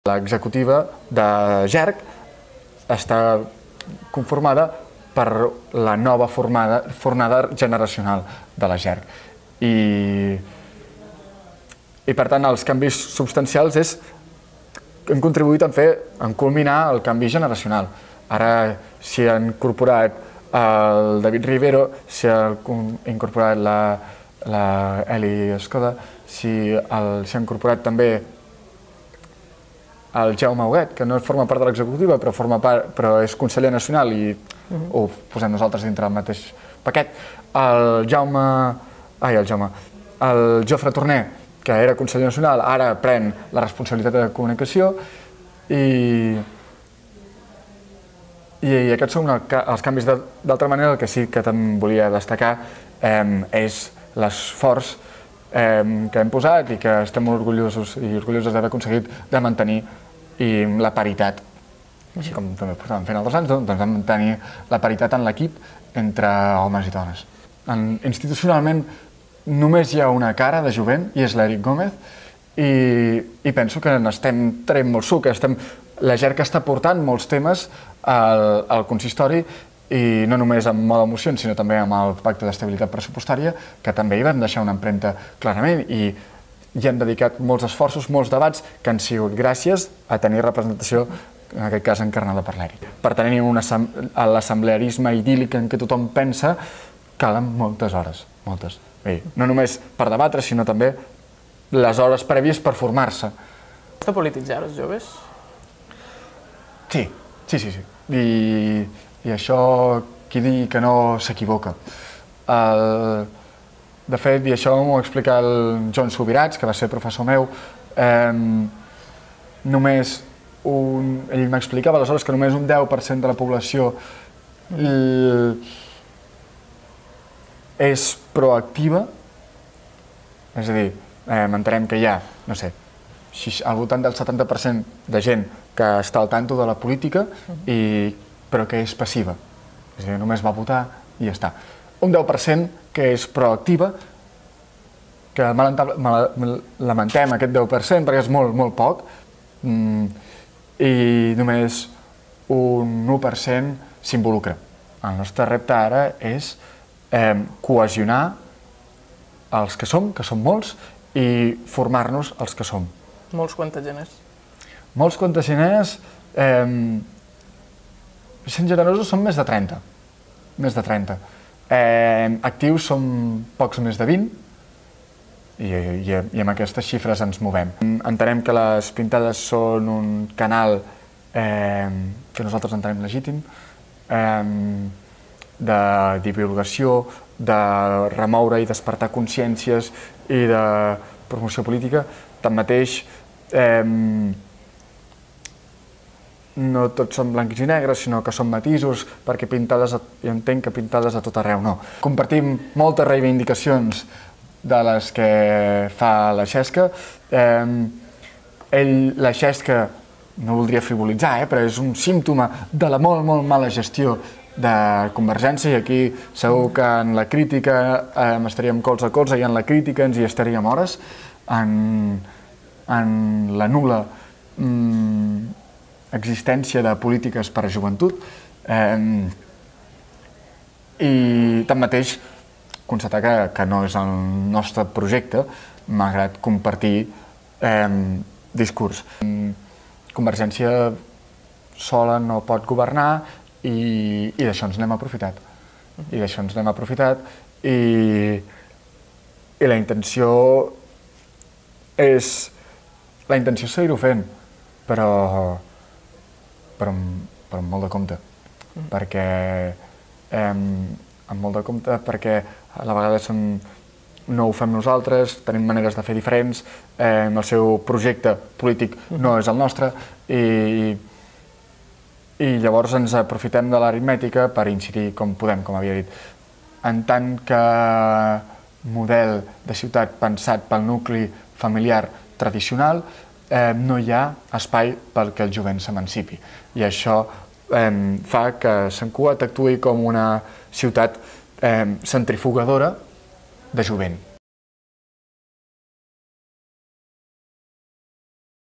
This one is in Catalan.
L'executiva de GERC està conformada per la nova fornada generacional de la GERC. I per tant, els canvis substancials han contribuït a culminar el canvi generacional. Ara s'hi ha incorporat el David Rivero, s'hi ha incorporat la Eli Escoda, s'hi ha incorporat també el Jaume Huguet, que no forma part de l'executiva, però és conseller nacional i ho posem nosaltres dintre del mateix paquet. El Jofre Torner, que era conseller nacional, ara pren la responsabilitat de comunicació i aquests són els canvis. D'altra manera, el que sí que també volia destacar és l'esforç que hem posat i que estem molt orgullosos d'haver aconseguit de mantenir la paritat, així com també ho portàvem fent altres anys, doncs de mantenir la paritat en l'equip entre homes i dones. Institucionalment només hi ha una cara de jovent i és l'Eric Gómez i penso que n'estem traient molt suc. La GERC està portant molts temes al consistori i no només amb moda mocions, sinó també amb el Pacte d'Estabilitat Pressupostària, que també hi vam deixar una empremta clarament i hi hem dedicat molts esforços, molts debats que han sigut gràcies a tenir representació, en aquest cas encarnada per l'Eric. Per tenir l'assemblearisme idíl·lic en què tothom pensa, calen moltes hores, moltes. No només per debatre, sinó també les hores prèvies per formar-se. Està polititzar els joves? Sí. I això, qui digui que no s'equivoca. De fet, i això m'ho va explicar el Joan Subirats, que va ser professor meu, ell m'explicava aleshores que només un 10% de la població és proactiva, és a dir, entenem que hi ha, no sé, al voltant del 70% de gent que està al tanto de la política, però que és passiva, és a dir, només va votar i ja està. Un 10% que és proactiva, que lamentem aquest 10% perquè és molt, molt poc, i només un 1% s'involucra. El nostre repte ara és cohesionar els que som molts, i formar-nos els que som. Molts quanta gent és? Molts quanta gent és... Sent generosos són més de 30. Actius som pocs més de 20 i amb aquestes xifres ens movem. Entenem que les pintades són un canal que nosaltres entenem legítim, de divulgació, de remoure i despertar consciències i de promoció política. Tanmateix, no tots són blancs i negres, sinó que són matisos, perquè jo entenc que pintades a tot arreu no. Compartim moltes reivindicacions de les que fa la Xesca. La Xesca, no voldria frivolitzar, però és un símptoma de la molt, molt mala gestió de Convergència, i aquí segur que en la crítica estaríem colze a colze, i en la crítica ens hi estaríem hores, en la nul·la existència de polítiques per a joventut, i tanmateix constatar que no és el nostre projecte, malgrat compartir discurs. Convergència sola no pot governar i d'això ens n'hem aprofitat. I la intenció és seguir-ho fent, però amb molt de compte, perquè a la vegada no ho fem nosaltres, tenim maneres de fer diferents, el seu projecte polític no és el nostre, i llavors ens aprofitem de l'aritmètica per incidir com podem, com havia dit. En tant que model de ciutat pensat pel nucli familiar tradicional, no hi ha espai perquè el jovent s'emancipi. I això fa que Sant Cugat actuï com una ciutat centrifugadora de jovent.